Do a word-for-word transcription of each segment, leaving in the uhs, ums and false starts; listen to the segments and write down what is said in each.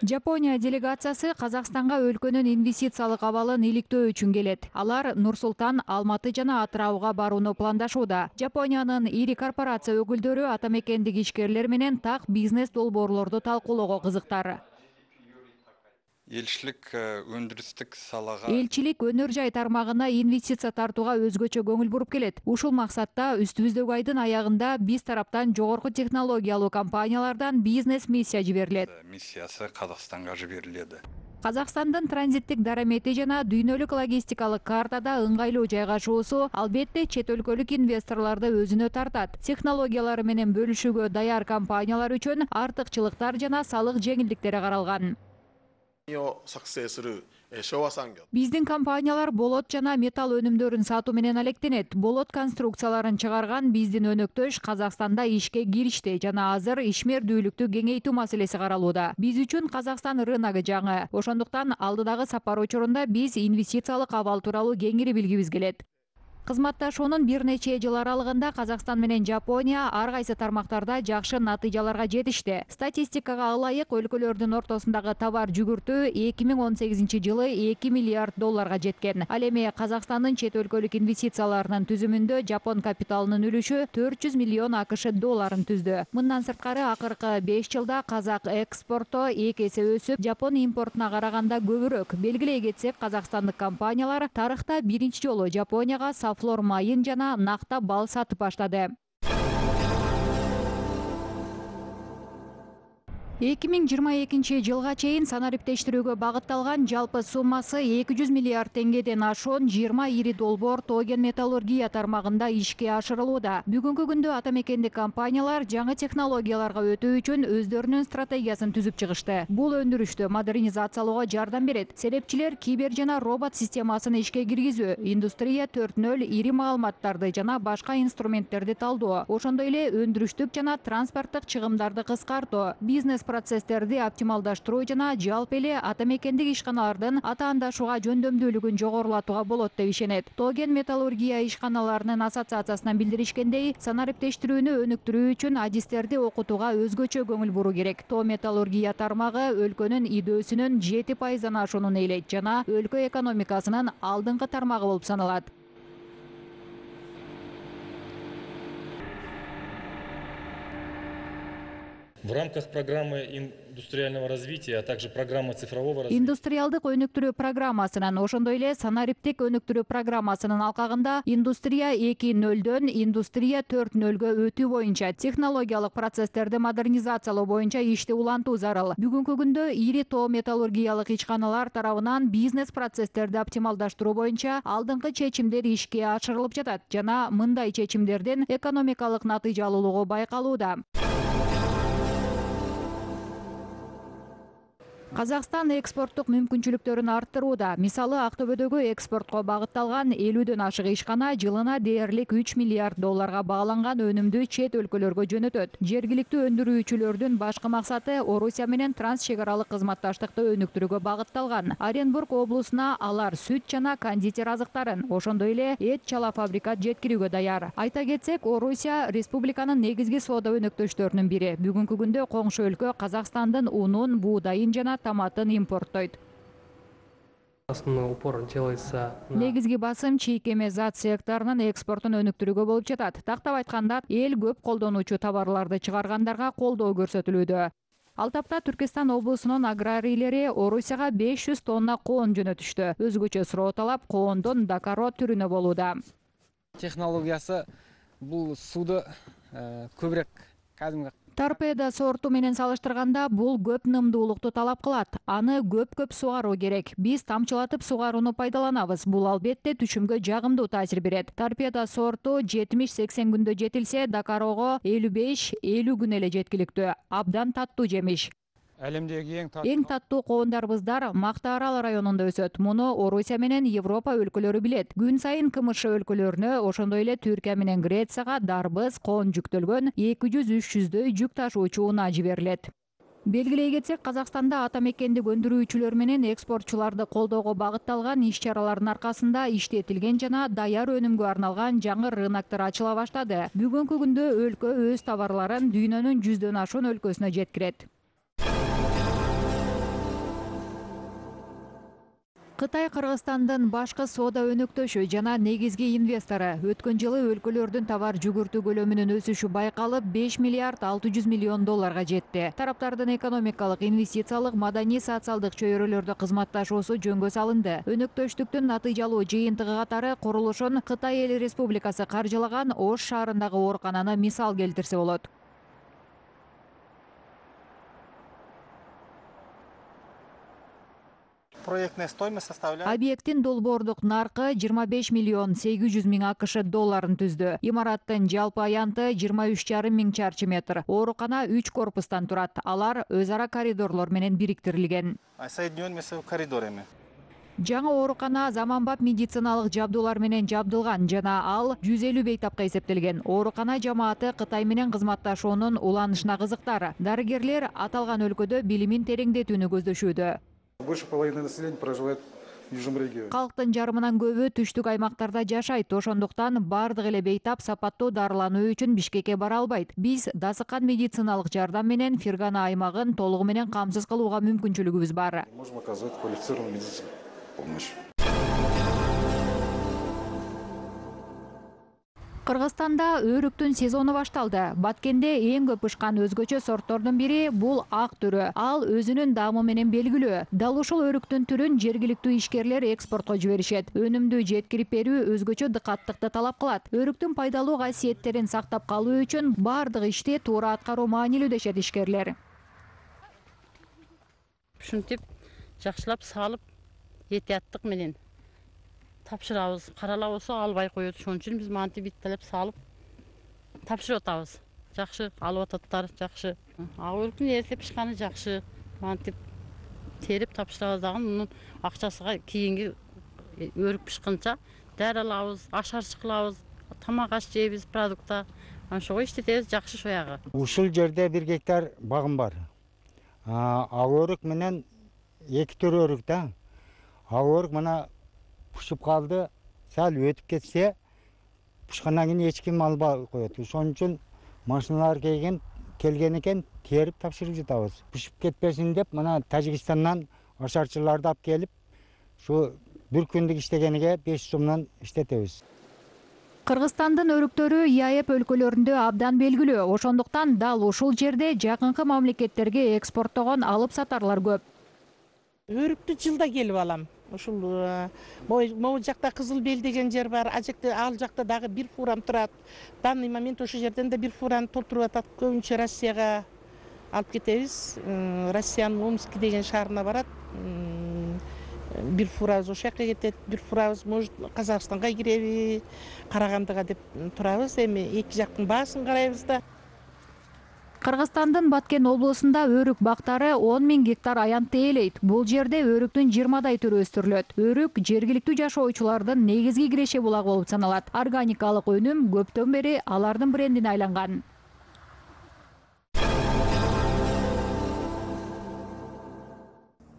Жапония делегациясы Казакстанга өлкөнүн инвестициялык абалын иликтөө үчүн келет. Алар Нур-Султан, Алматы жана Атырауга барууну пландашууда. Жапониянын ири корпорация өкүлдөрү атамекендик ишкерлер менен так бизнес долбоорлорду талкуулоого кызыктар. Элчилик өндүрүстүк салага Элчилик өнөр жай тармагына инвестиция тартууга өзгөчө көңүл буруп келет. Ушул максатта үстүбүздөгү айдын аягында биз тараптан жогорку технологиялуу компаниялардан бизнес миссия жиберилет. Миссиясы Казакстанга жиберилди. Казакстандын транзиттик дарамети жана дүйнөлүк логистикалык картада ыңгайлуу жайгашуусу албетте чет өлкөлүк инвесторлорду өзүнө тартат. Технологиялары менен бөлүшүүгө даяр компаниялар үчүн артыкчылыктар жана салык жеңилдиктери каралган. Биздин компаниялар болот жана металл өнүмдөрүн сатуу менен алектенет. Болот конструкцияларын чыгарган биздин өнөктөш Казакстанда ишке киришти жана азыр ишмердүүлүктү кеңейтүү маселеси каралууда. Биз үчүн Казакстан рыногу жаңы. Ошондуктан алдыдагы сапар учурунда биз инвестициялык абал тууралуу кеңири билгибиз келет. Кызматташуунун бир нече жыл аралыгында Казакстан менен Жапония ар кайсы тармактарда жакшы натыйжаларга жетишти. Статистикага ылайык өлкөлөрдүн ортосундагы товар жүгүртүү эки миң он сегизинчи жылы эки миллиард долларга жеткен. Ал эми Казакстандын чет өлкөлүк инвестицияларынын түзүмүндө Жапон капиталынын үлүшү төрт жүз миллион АКШ долларын түздү. Мындан сырткары акыркы беш жылда казак экспорту эки эсе өсүп, Жапон импортуна караганда көбүрөөк. Белгилей кетсек, казакстандык компаниялар тарыхта биринчи жолу Жапонияга флор майын жана накта бал сатып баштады. эки миң жыйырма экинчи жылга чейин санариптештирүүгө багытталган жалпы суммасы эки жүз миллиард теңгеден ашуун жыйырма ири долбоор Тоген металлургия тармагында ишке ашырылууда. Бүгүнкү күндө атамекендик компаниялар жаңы технологияларга өтүү үчүн өздөрүнүн стратегиясын түзүп чыгышты. Бул өндүрүштү модернизациялоого жардам берет. Серепчилер кибер жана робот системасын ишке киргизүү, индустрия төрт нөл, ири маалыматтарды жана башка инструменттерди талдоо, ошондой эле өндүрүштүк жана транспорттук чыгымдарды кыскартуу, бизнес процесстерди оптималдаштыруу жана жалпы эле атамекендик ишканалардын атаандашууга жөндөмдүүлүгүн жогорулатууга болот деп ишенет. Тоген металлургия ишканаларынын ассоциациясынан билдиришкендей, санариптештирүүнү өнүктүрүү үчүн адистерди окутууга өзгөчө көңүл буруу керек. То металлургия тармагы өлкөнүн идөөсүнүн жети пайыздан ашуунун ээлейт жана өлкө экономикасынын алдыңкы тармагы болуп саналат. В рамках программы индустриального развития, а также программы цифрового развития. Индустриалдык өнүктүрүү программасынын, ошондой эле санариптик өнүктүрүү программасынын алкагында индустрия эки нөлдөн индустрия төрт нөлгө өтүү боюнча технологиялык процесстерди модернизациялоо боюнча ишти улантуу зарыл. Бүгүнкү күндө ири тоо металлургиялык ишканалар тарабынан бизнес процесстерди оптималдаштыруу боюнча алдыңкы чечимдер ишке ашырылып жатат жана мындай чечимдердин экономикалык натыйжалуулугу байкалууда. Казакстан экспорттук мүмкүнчүлүктөрүн арттырууда. Мисалы, Актөбөдөгү экспортко багытталган элүүдөн ашык ишкана жылына дээрлик үч миллиард долларга багланган өнүмдү чет өлкөлөргө жөнөтөт. Жергиликтүү өндүрүүчүлөрдүн башкы максаты Орусия менен транс чек аралык кызматташтыкты өнүктүрүүгө багытталган. Оренбург облусуна алар сүт жана кондитер азыктарын, ошондой эле эт чала фабрикат жеткирүүгө даяр. Айта кетсек, Орусия республиканын негизги соода өнөктөштөрүнүн бири. Бүгүнкү күндө коңшу өлкө Казакстандын унун, буудайын жана томатын импорттойт. Основной упор делается на... Негизги басым чийкеме зат секторунун экспортун өнүктүрүүгө болуп жатат. Тактап айтканда, эл көп колдонуучу товарларды чыгаргандарга колдоо көрсөтүлүүдө. Ал тапта Түркистан облусунун аграрийлери Орусияга беш жүз тонна коон жөнөтүштү. Өзгөчө суроо талап коондон дакаро түрүнө болууда. Технологиясы бул сууду көбүрөөк кадимги Торпедо сорту менен салыштырганда бул көп нымдуулукту талап кылат. Аны көп-көп сугаруу керек. Биз тамчылатып сугарууну пайдаланабыз. Бул албетте түшүмгө жагымдуу таасир берет. Торпедо сорту жетимиш сексен күндө жетилсе, Дакарого элүү беш элүү күн эле жеткиликтүү. Абдан таттуу жемиш. Әлемдеги эң таттуу Эң таттуу коондарыбыздар Мактаарал районунда өсөт. Муну Орусия менен Европа өлкөлөрү билет. Күн сайын КМШ өлкөлөрүнө, ошондой эле Түркия менен Грецияга дарбыз, коон жүктөлгөн эки жүз үч жүздөй жүк ташуучу унаа жиберилет. Белгилей кетсек, Казакстанда атамекендик өндүрүүчүлөр менен экспортчуларды колдоого багытталган иш-чаралардын аркасында иштетилген жана даяр өнүмгө арналган жаңы рыноктор ачыла баштады. Бүгүнкү күндө өлкө өз товарларын дүйнөнүн жүздөн ашуун өлкөсүнө жеткирет. Кытай Кыргызстандын башкы соода өнөктөшү жана негизги инвестору. Өткөн жылы өлкөлөрдүн товар жүгүртүү көлөмүнүн өсүшү байкалып, беш миллиард алты жүз миллион долларга жетти. Тараптардын экономикалык, инвестициялык, маданий, социалдык чөйрөлөрдө кызматташуусу жөнгө салынды. Өнөктөштүктүн натыйжалуу жыйынтыгы катары курулушун Кытай Эл Республикасы каржылаган Ош шаарындагы оорукананы мисал келтирсе болот. Проектная стоимость составляет... Объекттин долбоордук наркы жыйырма беш миллион сегиз жүз миң АКШ долларын түздү. Имараттын жалпы аянты жыйырма үч жарым миң чарчы метр. Оорукана үч корпустан турат. Алар өз ара коридорлор менен бириктирилген. Соединен между коридорами. Жаңы оорукана заманбап медициналык жабдуулар менен жабдылган жана ал жүз элүү бейтапка эсептелген. Оорукана жамааты Кытай менен кызматташуунун уланышына кызыктар. Дарыгерлер аталган өлкөдө билимин тереңдетүүнү көздөшүүдө. Больше половины населения проживает в южном регионе. Калктын жарымынан көбү түштүк аймактарда жашайт. Ошондуктан бардык эле бейтап сапаттуу дарылануу үчүн Бишкекке бара албайт. Биз дасыкан медициналык жардам менен Фергана аймагын толугу менен камсыз кылууга мүмкүнчүлүгүбүз бар. Можем оказывать квалифицированную медицинскую помощь. Кыргызстанда өрүктүн сезону башталды. Баткенде эң көп ышкан өзгөчө сорттордун бири бул ак түрү. Ал өзүнүн даамы менен белгилүү. Дал ушул өрүктүн түрүн жергиликтүү ишкерлер экспортко жиберишет. Өнүмдү жеткирип берүү өзгөчө дыкаттыкты талап кылат. Өрүктүн пайдалуу касиеттерин сактап калуу үчүн бардык ишти туура аткаруу маанилүү дешет ишкерлер. Ушинтип жакшылап салып, этияттык менен тапшырабыз. Карала болсо албай коет. Ошон үчүн биз мантип биттелеп салып тапшырып атабыз. Жакшы алып ататтар, жакшы. Ак өрүктүн эртеп пишканы жакшы. Мантип терип тапшырабыз дагы мунун акчасыга кийинки өрүк пишканча дары алабыз, ашарчы кылабыз, тамак аш жейбиз продукта. Ошого иштетебиз жакшы шоягы. Ушул жерде бир гектар багым бар. Ак өрүк менен эки түр өрүк да. Ак өрүк мына пушуп калды, сал өтүп кетсе, пушкандан кийин эч ким албай коет. Ошон үчүн машиналар келген, келген экен, терип тапшырып жатабыз. Пушуп кетпесин деп, мына Тажикстандан ашарчыларды алып келип, ушу бир күндүк иштегениге беш сомдон иштетебиз. Кыргызстандын өрүктөрү ИАЭП өлкөлөрүндө абдан белгилүү. Ошондуктан дал ушул жерде жакынкы мамлекеттерге экспорттогон алып сатарлар көп. Өрүктү жылда келип алам. Ушул могу жакта Кызыл Бел деген жер бар. А жакта ал жакта дагы бир фурам турат. Данный момент ошол жерден да бир фураны толтуруп атат. Көбүнчө Россияга алып кетебиз. Россиянын Омск деген шаарына барат. Бир фурабыз ошол жака кетет, бир фурабыз может Казакстанга киреби, Карагандыга деп турабыз. Эми эки жактын баасын карайбыз да. Кыргызстандын Баткен облусунда өрүк бактары он миң гектар аянтты ээлейт. Бул жерде өрүктүн жыйырмадай түрү өстүрүлөт. Өрүк жергиликтүү жашоочулардын негизги киреше булагы болуп саналат. Органикалык өнүм көптөн бери алардын брендине айланган.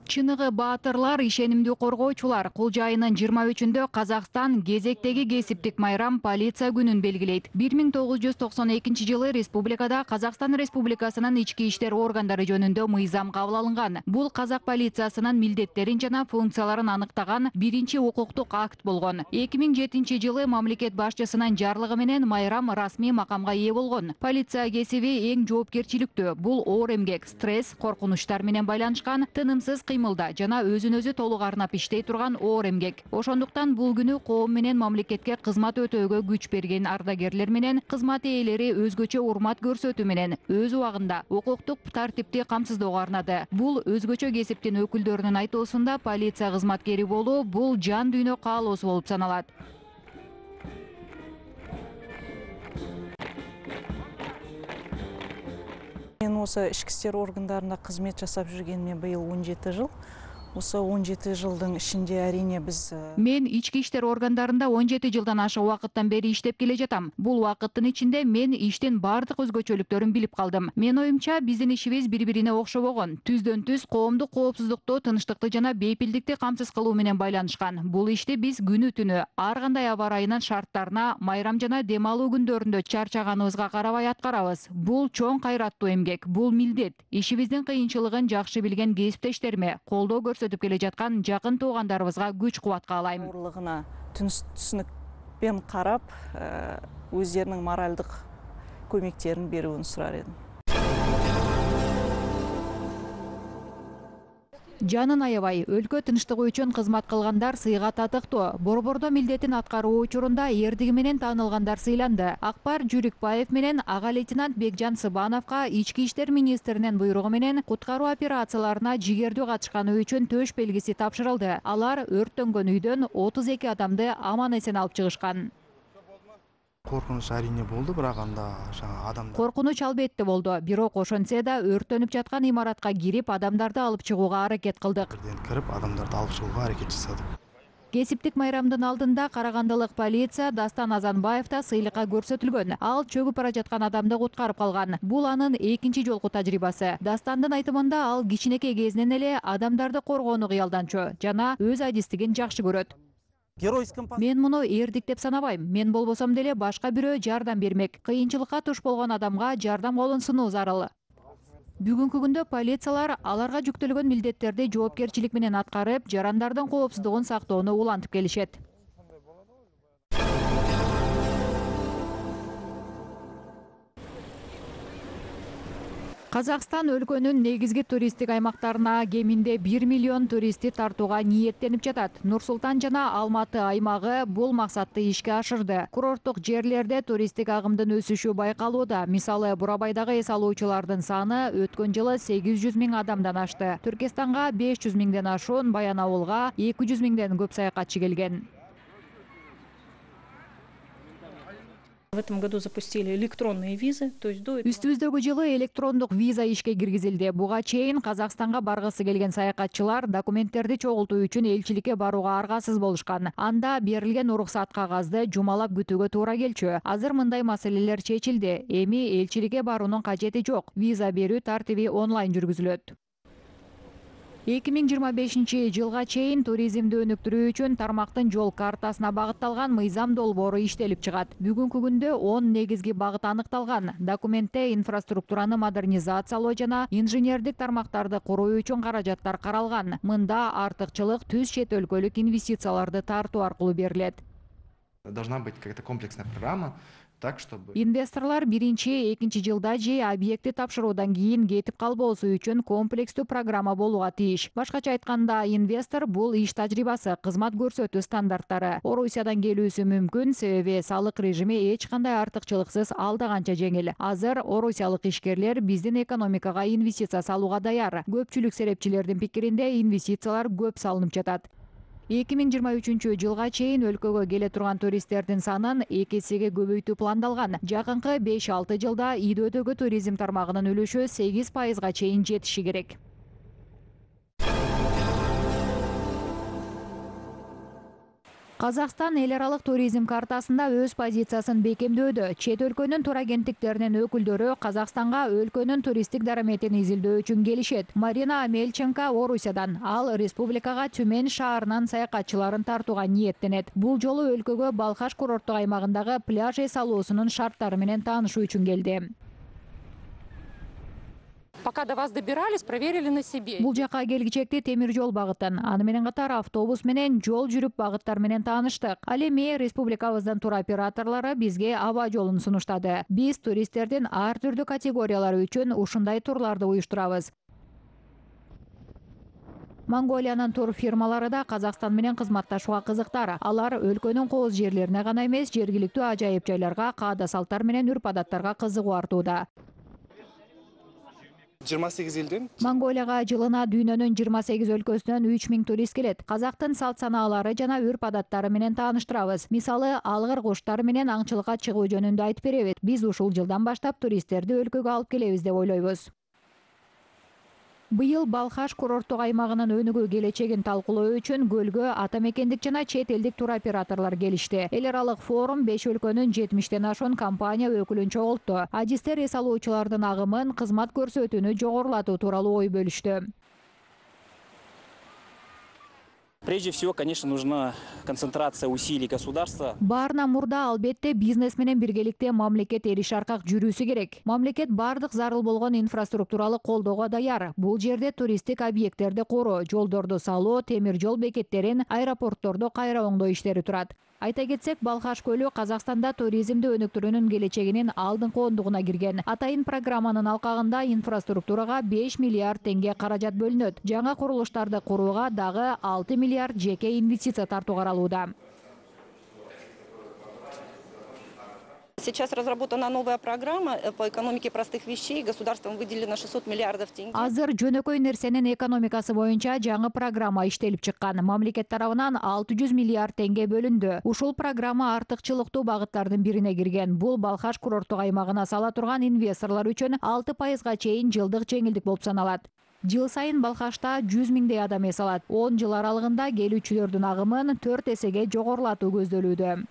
Чыныгы баатырлар, ишенимдүү коргоочулар. Кулж айынын жыйырма үчүндө Казакстан кезектеги кесиптик майрам полиция күнүн белгилейт. бир миң тогуз жүз токсон экинчи жылы республикада Казакстан Республикасынын ички иштер органдары жөнүндө мыйзам кабыл алынган. Бул казак полициясынын милдеттерин жана функцияларын аныктаган биринчи укуктук акт болгон. эки миң жетинчи жылы мамлекет башчысынын жарлыгы менен майрам расмий макамга ээ болгон. Полиция кесиби эң жоопкерчиликтүү. Бул оор эмгек, стресс, коркунучтар менен байланышкан, тынымсыз кыймылда жана өзүн өзү толук арнап иштей турган оор эмгек. Ошондуктан бул күнү коом менен мамлекетке кызмат өтөөгө күч берген ардагерлер менен кызмат ээлери өзгөчө урмат көрсөтүү менен өз убагында укуктук тартипти камсыздоого арнады. Бул өзгөчө кесиптин өкүлдөрүнүн айтуусунда полиция кызматкери болуу бул жан дүйнө каалоосу болуп саналат. Мен осы ички иштер органдарында кызмет жасап жүргениме быйыл он жети жыл. Осы он жети жылдың ичинде әрине биз Мен ички иштер органдарында он жети жылдан ашык убакыттан бери иштеп келе жатам. Бул убакыттын ичинде мен иштин бардык өзгөчөлүктөрүн билип калдым. Мен оюмча биздин ишибиз бири-бирине окшобогон. Түздөн түз коомдук коопсуздукту, тынчтыкты жана бейпилдикти камсыз кылуу менен байланышкан. Бул ишти биз күнү түнү ар кандай аба ырайынын шарттарына, майрам жана дем алуу күндөрүндө чарчаганыбызга карабай аткарабыз. Бул чоң кайраттуу эмгек, бул милдет. Ишибиздин кыйынчылыгын жакшы билген кесиптештериме колдоо көрсөтүп көрсөтүп келе жаткан жакын туугандарыбызга күч кубат каалайм. Оорулугуна түсүнүкпен карап, өздеринин моралдык көмектерин берүүнү сурар эдим. Жанын аябай, өлкө тынчтыгы үчүн кызмат кылгандар сыйга татыктуу. Борбордо милдетин аткаруу учурунда эрдиги менен таанылгандар сыйланды. Акбар Жүрүкбаев менен ага лейтенант Бекжан Сыбановго ички иштер министринин буйругу менен куткаруу операцияларына жигердүү катышканы үчүн төш белгиси тапшырылды. Алар өрттөнгөн үйдөн отуз эки адамды аман-эсен алып чыгышкан. Коркунуч арине болду, бирок анда жаңа адамдар. Коркунуч албетте болду, бирок ошентсе да өрттөнүп жаткан имаратка кирип, адамдарды алып чыгууга аракет кылдык. Кирип, адамдарды алып чыгууга аракет жасадык. Кесиптик майрамдын алдында карагандылык полиция Дастан Азанбаев да сыйлыкка көрсөтүлгөн. Ал чөгүп бара жаткан адамды куткарып калган. Бул анын экинчи жолку тажрыйбасы. Дастандын айтымында ал кичинекей кезинен эле адамдарды коргоону кыялданчу жана өз адистигин жакшы көрөт. Мен муну эрдик деп санабайм. Мен болбосом деле башка бирөө жардам бермек. Кыйынчылыкка туш болгон адамга жардам колун сунуу зарыл. Бүгүнкү күндө полициялар аларга жүктөлгөн милдеттерди жоопкерчилик менен аткарып, жарандардын коопсуздугун сактоону улантып келишет. Казакстан өлкөнүн негизги туристтик аймактарына кеминде бир миллион туристти тартууга ниеттенип жатат. Нур-Султан жана Алматы аймагы бул максатты ишке ашырды. Курорттук жерлерде туристтик агымдын өсүшү байкалууда. Мисалы, Бурабайдагы эс алуучулардын саны өткөн жылы сегиз жүз миң адамдан ашты. Түркистанга беш жүз миңден ашуун, Баян Ауылга эки жүз миңден көп саякатчы келген. В этом году запустили электронные визы, то есть до этого... Үстүбүздөгү жылы электрондук виза ишке киргизилди. Буга чейин Казакстанга баргысы келген саякатчылар документтерди чогултуу үчүн элчиликке барууга аргасыз болушкан. Анда берилген уруксат кагазды жумалап күтүүгө туура келчү. Азыр мындай маселелер чечилди. Эми элчиликке баруунун кажети жок. Виза берүү тартиби онлайн жүргүзүлөт. эки миң жыйырма бешинчи жылга чейин туризмди өнүктүрүү үчүн тармактын жол картасына багытталган мыйзам долбоору иштелип чыгат. Бүгүнкү күндө он негизги багыт аныкталган. Документте инфраструктураны модернизациялоо жана инженердик тармактарды куруу үчүн каражаттар каралган. Мында артыкчылык түз чет өлкөлүк инвестицияларды тартуу аркылуу берилет. Должна быть какая-то комплексная программа. Так, чтобы... Инвесторлар биринчи, экинчи жылда же объекти тапшыруудан кийин кетип калбоосу үчүн комплекстүү программа болууга тийиш. Башкача айтканда, инвестор бул иш тажрыйбасы, кызмат көрсөтүү стандарттары. Орусиядан келүүсү мүмкүн, себеби салык режими эч кандай артыкчылыксыз алда канча жеңил. Азыр орусиялык ишкерлер биздин экономикага инвестиция салууга даяр. Көпчүлүк серепчилердин пикиринде инвестициялар көп салынып жатат. эки миң жыйырма үчүнчү жылга чейин өлкөгө келе турган туристтердин санын эки эсеге көбөйтүү пландалган. Жакынкы беш алты жылда ИДОдөгү туризм тармагынын үлүшү сегиз пайызга чейин жетиши керек. Казакстан эл аралык туризм картасында өз позициясын бекемдөөдө. Чет өлкөнүн турагенттиктеринин өкүлдөрү Казакстанга өлкөнүн туристтик дараметин изилдөө үчүн келишет. Марина Амельченко Орусиядан, ал республикага Түмен шаарынан саякатчыларын тартууга ниеттенет. Бул жолу өлкөгө Балхаш курорттук аймагындагы пляж эс алуусунун шарттары менен таанышуу үчүн келди. Пока до вас добирались, проверили на себе. Бул жака келгичекти темир жол багытын, аны менен катар автобус менен жол жүрүп багыттар менен тааныштык. Ал эми республикабыздын туроператорлору бизге аба жолун сунуштады. Биз туристтердин ар түрдүү категориялары үчүн ушундай турларды уюштурабыз. Монголиянын тур фирмалары да Казакстан менен кызматташууга кызыктар. Алар өлкөнүн кооз жерлерине гана эмес, жергиликтүү ажайып жайларга, каада салттар менен үрп-адаттарга кызыгуу артууда. жыйырма сегиз элден Монголияга жылына дүйнөнүн жыйырма сегиз өлкөсүнөн үч миң турист келет. Казактын салт санаалары жана үрп-адаттары менен тааныштырабыз. Мисалы, алгыр куштар менен аңчылыкка чыгуу жөнүндө айтып беребиз. Биз ушул жылдан баштап туристтерди өлкөгө алып келебиз деп ойлойбуз. Быйыл Балхаш курорттук аймагынын өнүгүү келечегин талкуулоо үчүн көлгө ата мекендик жана чет элдик туроператорлор келишти. Эл аралык форум беш өлкөнүн жетимиштен ашуун компания өкүлүн чогултту. Адистер эс алуучулардын агымын, кызмат көрсөтүүнү жогорулатуу тууралуу ой бөлүштү. Прежде всего, конечно, нужна концентрация усилий государства. Баарынан мурда албетте бизнес менен биргеликте мамлекет эриш аркак жүрүүсү керек. Мамлекет бардык зарыл болгон инфраструктуралык колдоого даяр. Бул жерде туристтик объекттерди куруу, жолдорду салуу, темир жол бекеттерин, аэропорттордо кайра оңдоо иштери турат. Айта кетсек, Балхаш көлү Казакстанда туризмди өнүктүрүүнүн келечегинин алдыңкы ондугуна кирген. Атайын программанын алкагында инфраструктурага беш миллиард теңге каражат бөлүнөт. Жаңа курулуштарды курууга дагы алты миллиард жеке инвестиция тартуу каралууда. Сейчас разработана новая программа по экономике простых вещей. Государством выделено шестьсот миллиардов тенге. Азыр жөнөкөй нерсенин экономикасы боюнча жаңы программа иштелип чыккан. Мамлекет тарабынан алты жүз миллиард теңге бөлүндү. Ушул программа артыкчылыктуу багыттардын бирине кирген. Бул Балхаш курорттук аймагына сала турган инвесторлор үчүн алты пайызга чейин жылдык жеңилдик болуп саналат. Жыл сайын Балхашта жүз миңдей адам эс алат. он жыл аралыгында келүүчүлөрдүн агымын төрт эсеге жогорулатуу көздөлүүдө.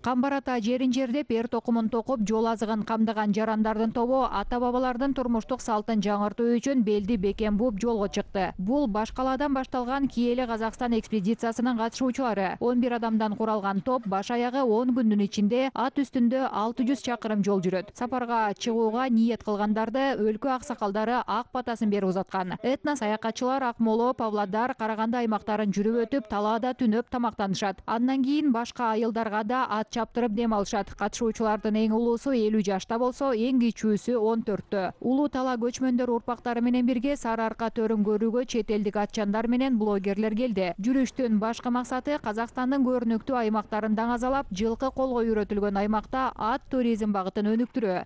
Камбар ата жерин жердеп, эр токумун токуп, жол азыгын камдаган жарандардын тобу ата бабалардын турмуштук салтын жаңыртуу үчүн белди бекем бууп жолго чыкты. Бул баш калаадан башталган киеле Казакстан экспедициясынын катышуучулары. он бир адамдан куралган топ баш аягы он күндүн ичинде ат үстүндө алты жүз чакырым жол жүрөт. Сапарга чыгууга ниет кылгандарды өлкө аксакалдары ак батасын берип узаткан. Этно саякатчылар Акмола, Павлодар, Караганды аймактарын жүрүп өтүп, талаада түнөп тамактанышат. Андан кийин башка айылдарга да ат чаптырып дем алышат. Катышуучулардын эң улуусу элүү жашта болсо, эң кичүүсү он төрттө. Улуу тала көчмөндөр урпактары менен бирге Сары Арка төрүн көрүүгө чет элдик атчандар менен блогерлер келди. Жүрүштүн башкы максаты Казакстандын көрүнүктүү аймактарын даңазалап, жылкы колго үйрөтүлгөн аймакта ат туризм багытын өнүктүрүү.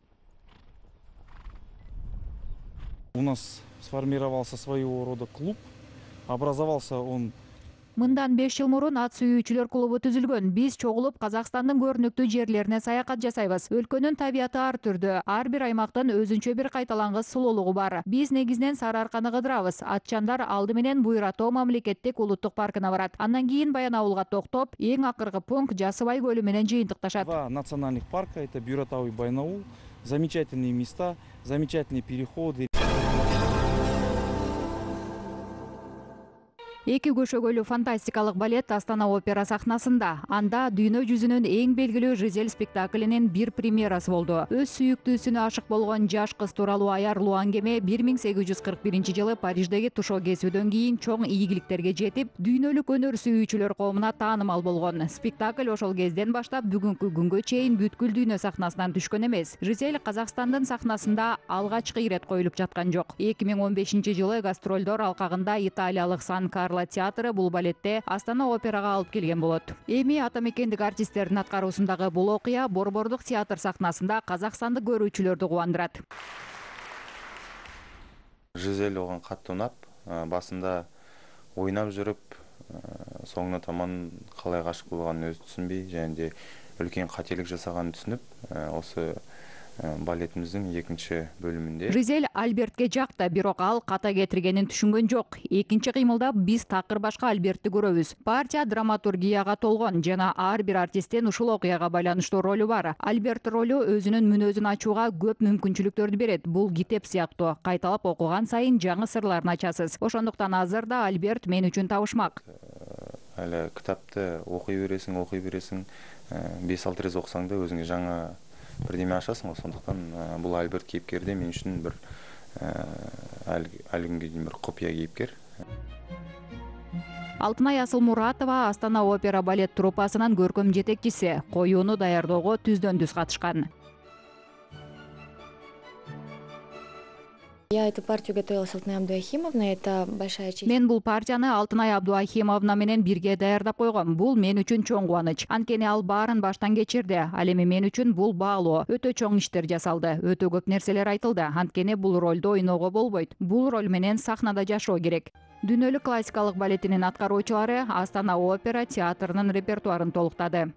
У нас сформировался своего рода клуб. Образовался он Мындан беш жыл мурун ат сүйүүчүлөр клубу түзүлгөн. Биз чогулуп Казакстандын көрүнүктүү жерлерине саякат жасайбыз. Өлкөнүн табияты ар түрдүү. Ар бир аймактын өзүнчө бир кайталангыс сулуулугу бар. Биз негизинен Сары Арканы кыдырабыз. Атчандар алды менен Буйра тоо мамлекеттик улуттук паркына барат. Андан кийин Баянауылга токтоп, эң акыркы пункт Жасыбай көлү менен жыйынтыкташат. Два национальных парка, это Бюратау и Баянаул. Замечательные места, замечательные переходы. Эки көшөгөлүү фантастикалык балет Астана опера сахнасында. Анда дүйнө жүзүнүн эң белгилүү Жизель спектаклинин бир премьерасы болду. Өз сүйүктүүсүнө ашык болгон жаш кыз тууралуу аярлуу аңгеме бир миң сегиз жүз кырк биринчи жылы Париждеги тушоо кесүүдөн кийин чоң ийгиликтерге жетип, дүйнөлүк өнөр сүйүүчүлөр коомуна таанымал болгон. Спектакль ошол кезден баштап бүгүнкү күнгө чейин бүткүл дүйнө сахнасынан түшкөн эмес. Жизель Казакстандын сахнасында алгачкы ирет коюлуп жаткан жок. эки миң он бешинчи жылы гастролдор алкагында италиялык Сан Карло театры бул балетте Астана операга алып келген болот. Эми ата мекендик артисттердин аткаруусундагы бул окуя Борбордук театр сахнасында казакстандык көрүүчүлөрдү кубандырат. Жизель оған катты унап, басында ойнап жүрүп, соңуна таман калай гашык болгонун өзү түшүнбөй, және де үлкен кателик жасаганын түшүнүп, осы балетимиздин экинчи бөлүмүндө Жизель Альбертке жакты, бирок ал ката кетиргенин түшүнгөн жок. Экинчи кыймылда биз такыр башка Альбертти көрөбүз. Партия драматургияга толгон жана ар бир артисттин ушул окуяга байланыштуу ролу бар. Альберт ролу өзүнүн мүнөзүн ачууга көп мүмкүнчүлүктөрдү берет. Бул китеп сыяктуу. Кайталап окуган сайын жаңы сырларын ачасыз. Ошондуктан азыр да Альберт мен үчүн табышмак. Эле китапты окуй бересиң, окуй бересиң, беш алты рет окусаң да өзүңө жаңы бирдеме ашасың. Сондуктан бул Альберт кейипкерде мен үчүн бир ал күнгө чейин бир копия кейипкер. Алтынай Асылмуратова Астана опера балет труппасынын көркөм жетекчиси. Коюуну даярдоого түздөн түз катышкан. Я эту партию готовила с Алтынай Абдуахимовной, это большая честь. Мен бул партияны Алтынай Абдуахимовна менен бирге даярдап койгом. Бул мен үчүн чоң кубаныч. Анткени ал баарын баштан кечирди. Ал эми мен үчүн бул баалоо. Өтө чоң иштер жасалды. Өтө көп нерселер айтылды. Анткени бул ролду ойноого болбойт. Бул роль менен сахнада жашоо керек. Дүйнөлүк классикалык балетинин аткаруучулары Астана опера театрынын репертуарын толуктады.